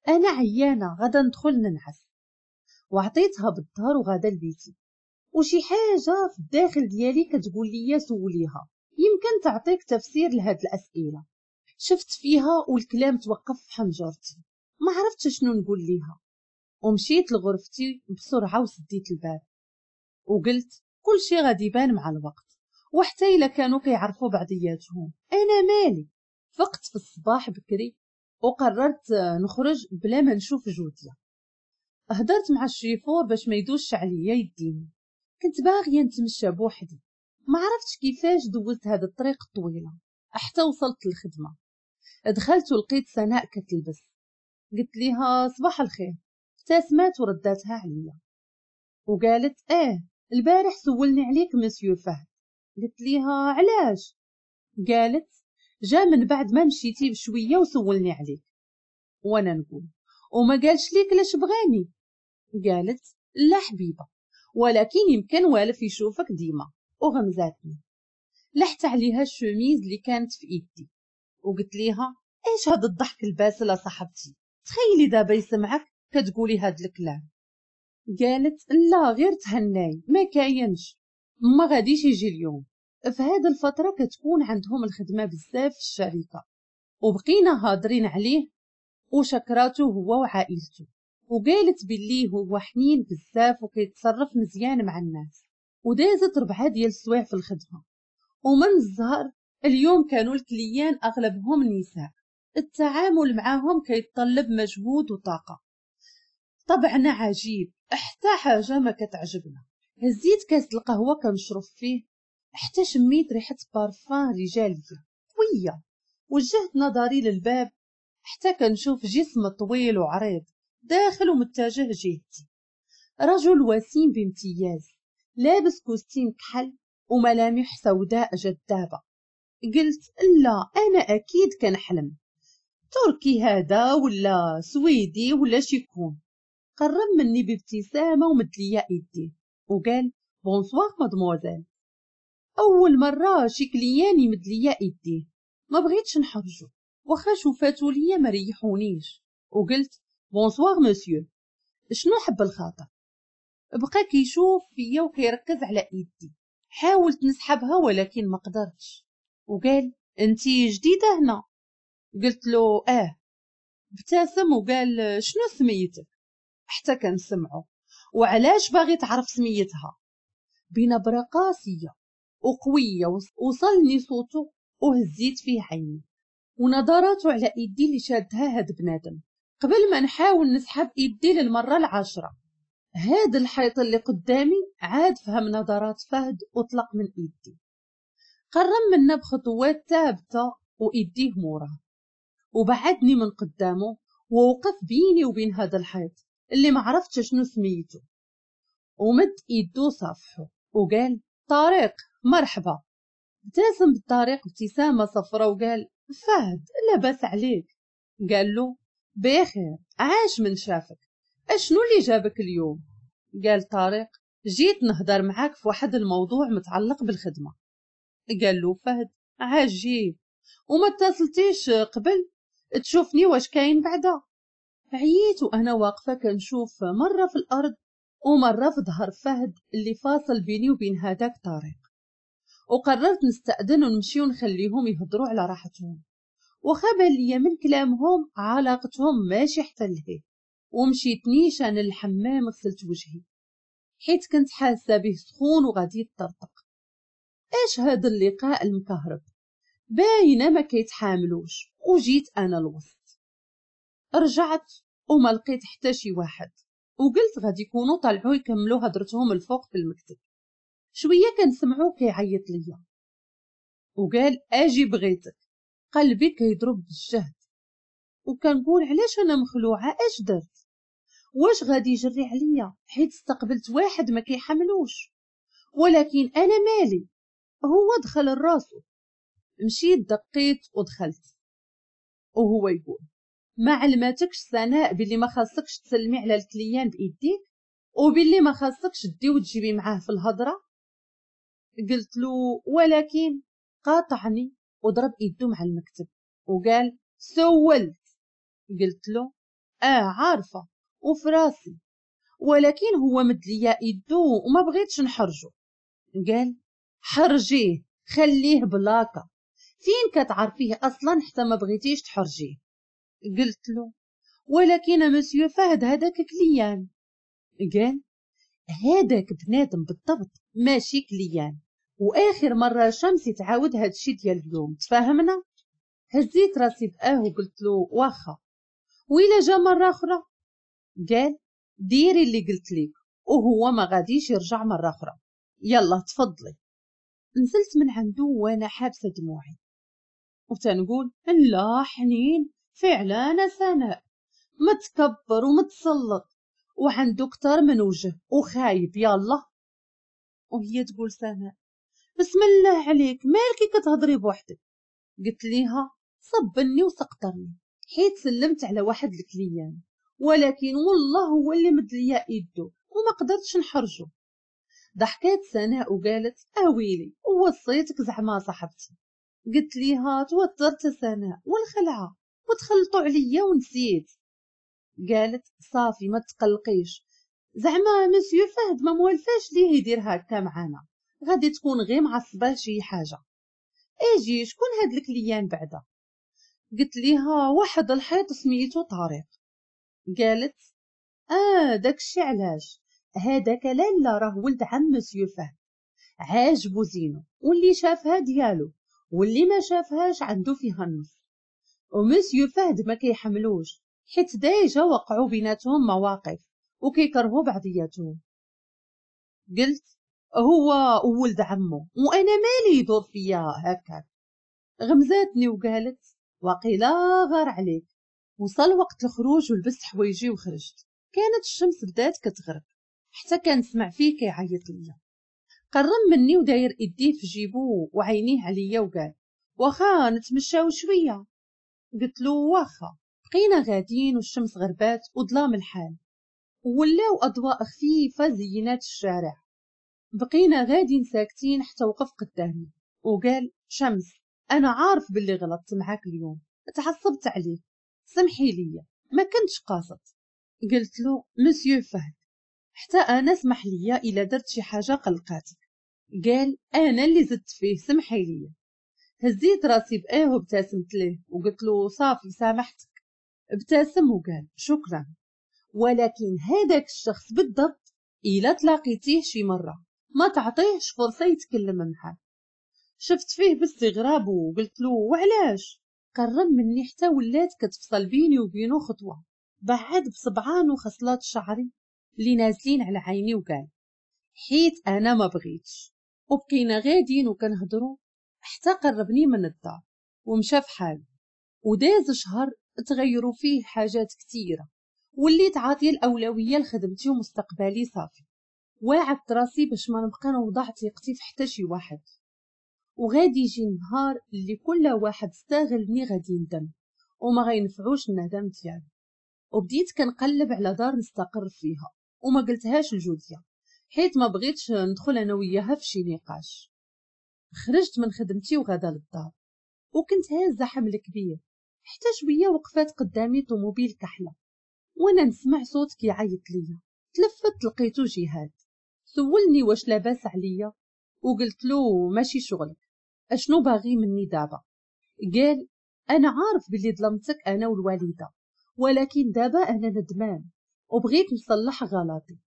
S1: انا عيانه غادا ندخل ننعس. وعطيتها بالظهر وغادا لبيتي. وشي حاجة في الداخل ديالي كتقول لي سوليها، يمكن تعطيك تفسير لهاد الاسئلة. شفت فيها والكلام توقف في حنجرتي، ما عرفتش شنو نقول ليها. ومشيت لغرفتي بسرعة وسديت الباب وقلت كل شي غادي يبان مع الوقت، وحتى الا كانوا كيعرفوا بعضياتهم انا مالي. فقت في الصباح بكري وقررت نخرج بلا ما نشوف جوديا. هدرت مع الشيفور باش ما يدوش عليا يديني. كنت باغية نتمشى بوحدي، ما عرفتش كيفاش دوزت هذا الطريق الطويلة حتى وصلت للخدمة. دخلت ولقيت سناء كتلبس. قلت ليها صباح الخير. ابتسمت ورداتها عليا وقالت ايه البارح سولني عليك مسيو فهد. قلت ليها علاش؟ قالت جا من بعد ما مشيتي بشوية وسولني عليك. وانا نقول وما قالش ليك لاش بغاني؟ قالت لا حبيبه، ولكن يمكن والف يشوفك ديما. وغمزاتني. لحت عليها الشميز اللي كانت في ايدي وقلت ليها ايش هاد الضحك الباسل صاحبتي، تخيلي دابا يسمعك كتقولي هاد الكلام. قالت لا غير تهناي ما كاينش، ما غاديش يجي اليوم. في هاد الفترة كتكون عندهم الخدمة بزاف في الشركة. وبقينا هادرين عليه وشكراته هو وعائلته، وقالت باللي هو حنين بزاف وكيتصرف مزيان مع الناس. ودازت ربعه ديال السوايع في الخدمة. ومن الزهر اليوم كانوا ال clients اغلبهم نساء، التعامل معاهم كيتطلب مجهود وطاقة. طبعنا عجيب، حتى حاجة ما كتعجبنا. هزيت كاس القهوة كنشرب فيه حتى شميت ريحه بارفان رجالية قوية. وجهت نظري للباب حتى كنشوف جسم طويل وعريض داخل ومتجه جهتي. رجل وسيم بامتياز، لابس costume كحل وملامح سوداء جذابة. قلت لا انا اكيد كنحلم، تركي هذا ولا سويدي ولا شيكون. قرب مني بابتسامة ومد ليا ايديه وقال bonsoir mademoiselle. اول مرة شي client يمد ليا ايديه، ما بغيتش نحرجو واخا شوفاتو ليا ما ريحونيش، وقلت bonsoir monsieur، شنو حب الخاطر؟ بقى كيشوف فيا وكيركز على ايدي، حاولت نسحبها ولكن ما قدرتش، وقال انتي جديدة هنا؟ قلت له اه. ابتسم وقال شنو سميتك؟ حتى كنسمعو وعلاش باغي تعرف سميتها؟ بنبره قاسية وقويه وصلني صوته وهزيت فيه عيني ونظراته على ايدي اللي شادها هاد بنادم قبل ما نحاول نسحب ايدي للمرة العاشرة. هاد الحيط اللي قدامي عاد فهم نظرات فهد وطلق من ايدي. قرب منا بخطوات ثابتة وايديه موراه، وبعدني من قدامه ووقف بيني وبين هذا الحيط اللي ما عرفتش شنو سميته، ومد ايدو صافحه وقال طارق مرحبا. ابتسم بالطارق ابتسامة صفرة وقال فهد لاباس عليك؟ قال له بخير، عاش من شافك، اشنو اللي جابك اليوم؟ قال طارق جيت نهضر معاك في واحد الموضوع متعلق بالخدمة. قال له فهد عجيب، وما اتصلتيش قبل تشوفني واش كاين بعدا؟ عييت وانا واقفة كنشوف مرة في الارض ومرة في ظهر فهد اللي فاصل بيني وبين هذاك طارق، وقررت نستأذن ونمشي ونخليهم يهضروا على راحتهم، وخا بان ليا من كلامهم علاقتهم ماشي حتى لهي. ومشيت نيشان للحمام غسلت وجهي حيت كنت حاسه به سخون وغادي يطرطق. اش هذا اللقاء المكهرب، باينة ما كيتحاملوش، وجيت انا الوسط. رجعت وما لقيت حتى شي واحد، وقلت غادي يكونوا طلعوا يكملوا هضرتهم الفوق في المكتب. شوية كنسمعو كيعيط ليا وقال اجي بغيتك. قلبي كيضرب بالجهد وكنقول علاش انا مخلوعه، اش درت؟ واش غادي يجري عليا حيت استقبلت واحد ما كيحملوش؟ ولكن انا مالي، هو دخل الراسو. مشيت دقيت ودخلت وهو يقول ما علماتكش سناء باللي ما خاصكش تسلمي على ال client بايديك، وباللي ما خاصكش دي وتجيبي معاه في الهضرة؟ قلت له ولكن. قاطعني وضرب ايدو مع المكتب وقال سولت. قلت له اه عارفه وفراسي، ولكن هو مد ليا ايدو وما بغيتش نحرجو. قال حرجيه، خليه بلاكه، فين كتعرفيه اصلا حتى ما بغيتيش تحرجيه؟ قلت له ولكن مسيو فهد هذاك client. قال هذاك بنادم بالضبط ماشي client، واخر مرة شمسي تعاود هادشي ديال اليوم، تفاهمنا؟ هزيت راسي باه وقلت له واخا، وإلا جا مرة اخرى؟ قال ديري اللي قلت لك وهو ما غاديش يرجع مرة اخرى، يلا تفضلي. نزلت من عنده وانا حابسه دموعي وتنقول لا حنين فعلا سناء متكبر ومتسلط وعنده كتر من وجه وخايب، يلا. وهي تقول سناء بسم الله عليك مالكي كتهضري بوحدك؟ قلت ليها صبني وسقطرني حيت سلمت على واحد ال client، ولكن والله هو اللي مد ليا ايدو وما قدرتش نحرجو. ضحكات سناء وقالت اويلي ووصيتك زعما صاحبتي. قلت ليها توترت سناء والخلعه وتخلطوا عليا ونسيت. قالت صافي ما تقلقيش، زعما مسيو فهد ما موالفاش ليه يدير هكا معانا، غادي تكون غير معصبة شي حاجة. اجي شكون هاد ال client بعدا؟ قلت ليها واحد الحيط سميتو طارق. قالت اه داكشي علاش هذاك لالا راه ولد عم مسيو فهد، عاجبو زينو واللي شافها ديالو واللي ما شافهاش عنده فيها النص، ومسيو فهد ما كيحملوش حيت déjà وقعوا بيناتهم مواقف وكيكرهوا بعضياتهم. قلت هو وولد عمو وانا مالي يدور فيا هكاك. غمزاتني وقالت وقيلا غار عليك. وصل وقت الخروج ولبست حوايجي وخرجت. كانت الشمس بدات كتغرب حتى كنسمع فيه كيعيط ليا. قرب مني وداير ايديه في جيبو وعينيه عليا وقال واخا نتمشاو شوية؟ قلت له واخا. بقينا غاديين والشمس غربات وظلام الحال، ولاو اضواء خفيفة زينات الشارع. بقينا غاديين ساكتين حتى وقف قدامي وقال شمس انا عارف باللي غلطت معاك اليوم، تعصبت عليك، سمحي لي ما كنتش قاصد. قلت له مسيو فهد حتى انا سمح لي الا درت شي حاجة قلقاتك. قال انا اللي زدت فيه، سمحي لي. هزيت راسي باه وابتسمت ليه وقلت له صافي سامحتك. ابتسم وقال شكرا، ولكن هذاك الشخص بالضبط الا تلاقيتيه شي مرة ما تعطيهش فرصة يتكلم معاك. شفت فيه باستغراب وقلت له وعلاش؟ قرب مني حتى ولات كتفصل بيني وبينه خطوة، بعد بصبعان وخصلات شعري اللي نازلين على عيني وقال حيت انا ما بغيتش. وبقينا غاديين وكنهضروا حتى قربني من الدار ومشى في حاله. وداز شهر تغيروا فيه حاجات كثيرة، وليت عاطيه الاولوية لخدمتي ومستقبلي صافي. واعدت راسي باش ما نبقى نوضع ثقتي في حتى شي واحد، وغادي يجي النهار اللي كل واحد استغلني غادي يندم وما غينفعوش الندم ديالو. وبديت كنقلب على دار نستقر فيها، وما قلتهاش لجوديا حيت ما بغيتش ندخل انا وياها في شي نقاش. خرجت من خدمتي وغدا للدار، وكنت هازه حمل كبير حتى شوية وقفات قدامي طوموبيل كحلة، وانا نسمع صوت كيعيط ليا. تلفت لقيتو جهاد. سولني واش لاباس عليا، وقلت له ماشي شغلك، اشنو باغي مني دابا؟ قال انا عارف باللي ظلمتك انا والوالدة، ولكن دابا انا ندمان وبغيت نصلح غلطي.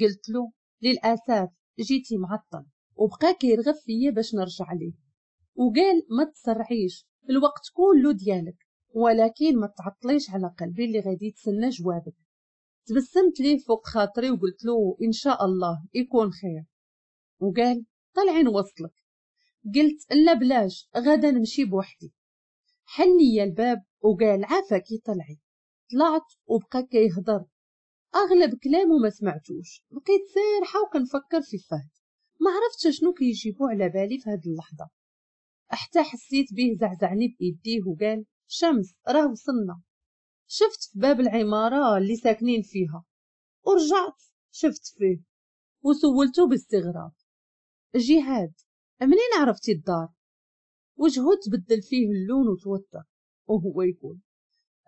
S1: قلت له للاسف جيتي معطل، وبقى كيرغب فيا باش نرجع ليه، وقال ما تسرعيش الوقت كله ديالك، ولكن ما تعطليش على قلبي اللي غادي يتسنى جوابك. تبسمت ليه فوق خاطري وقلت له ان شاء الله يكون خير. وقال طلعي نوصلك. قلت لا بلاش، غدا نمشي بوحدي. حل لي الباب وقال عافاكي طلعي. طلعت وبقى كيهضر، اغلب كلامه ما سمعتوش. بقيت سارحه وكنفكر في فهد، ما عرفتش شنو كيجيبو على بالي في هاد اللحظة، حتى حسيت به زعزعني بايديه وقال شمس راه وصلنا. شفت في باب العمارة اللي ساكنين فيها، ورجعت شفت فيه وسولته باستغراب جهاد منين عرفتي الدار؟ وجهه تبدل فيه اللون وتوتر وهو يقول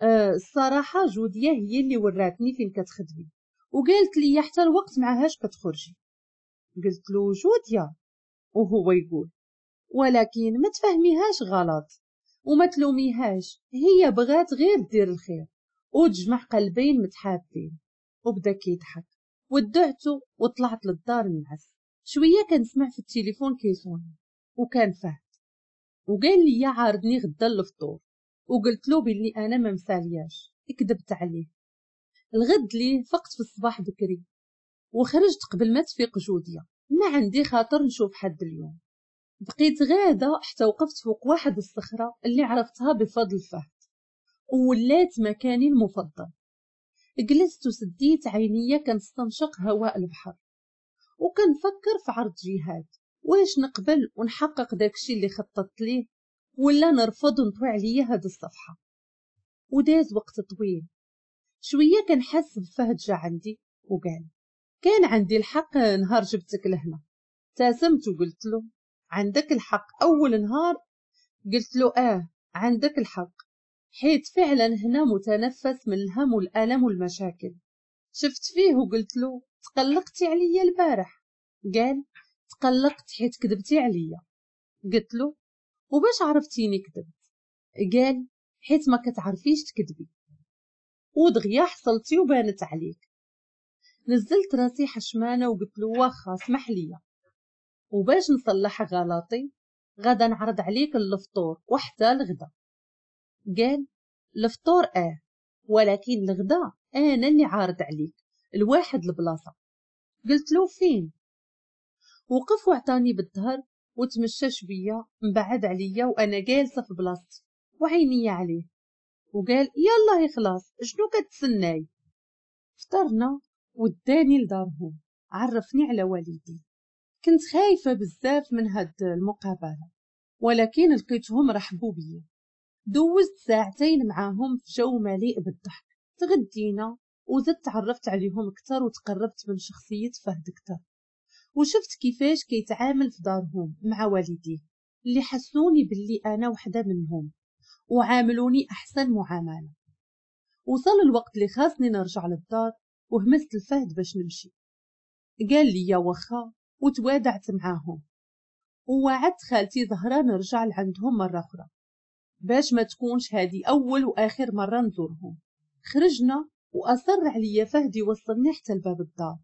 S1: أه الصراحة جوديه هي اللي وراتني فين كتخدمي، وقالت لي حتى الوقت معهاش كتخرجي. قلت له جوديه؟ وهو يقول ولكن ما تفهميهاش غلط وما تلوميهاش، هي بغات غير دير الخير وتجمع قلبين متحابين. وبدا كيضحك. ودعته وطلعت للدار نعس. شوية كنسمع في التليفون كيصوني، وكان فهد، وقال لي عارضني غدا للفطور، وقلت له باللي انا ما مسالياش، كذبت عليه. الغد ليه فقت في الصباح بكري وخرجت قبل ما تفيق جوديه، ما عندي خاطر نشوف حد اليوم. بقيت غاده حتى وقفت فوق واحد الصخرة اللي عرفتها بفضل فهد، وولات مكاني المفضل. جلست وسديت عينيا كنستنشق هواء البحر، وكنفكر في عرض جهاد، واش نقبل ونحقق داكشي اللي خططت ليه ولا نرفض ونطوي عليا هاد الصفحة. وداز وقت طويل. شوية كنحس بفهد جا عندي وقال كان عندي الحق نهار جبتك لهنا. ابتسمت وقلت له عندك الحق اول نهار؟ قلت له اه عندك الحق، حيت فعلا هنا متنفس من الهم والالم والمشاكل. شفت فيه وقلت له تقلقتي عليا البارح؟ قال تقلقت حيت كذبتي عليا. قلت له وباش عرفتيني كذبت؟ قال حيت ما كتعرفيش تكذبي، ودغيا حصلتي وبانت عليك. نزلت راسي حشمانه وقلت له واخا اسمح لي، وباش نصلح غلطي غدا نعرض عليك الفطور وحتى الغدا. قال الفطور اه، ولكن الغدا انا اللي عارض عليك الواحد البلاصة. قلت له فين؟ وقف وعطاني بالظهر وتمشى شوية مبعد عليا وانا جالسة في بلاصتي وعيني عليه، وقال يلا خلاص شنو كتسناي؟ فطرنا وداني لدارهم، عرفني على والدي. كنت خايفة بزاف من هاد المقابلة، ولكن لقيتهم رحبوا بيا. دوزت ساعتين معاهم في جو مليء بالضحك، تغدينا وزدت تعرفت عليهم اكثر وتقربت من شخصية فهد اكثر، وشفت كيفاش كيتعامل في دارهم مع والديه اللي حسوني باللي انا وحده منهم وعاملوني احسن معاملة. وصل الوقت اللي خاصني نرجع للدار وهمست لفهد باش نمشي، قال لي يا واخا، وتوادعت معاهم ووعدت خالتي زهره نرجع لعندهم مرة اخرى باش ما تكونش هذه اول واخر مرة نزورهم. خرجنا واصر عليا فهد يوصلني حتى لباب الدار،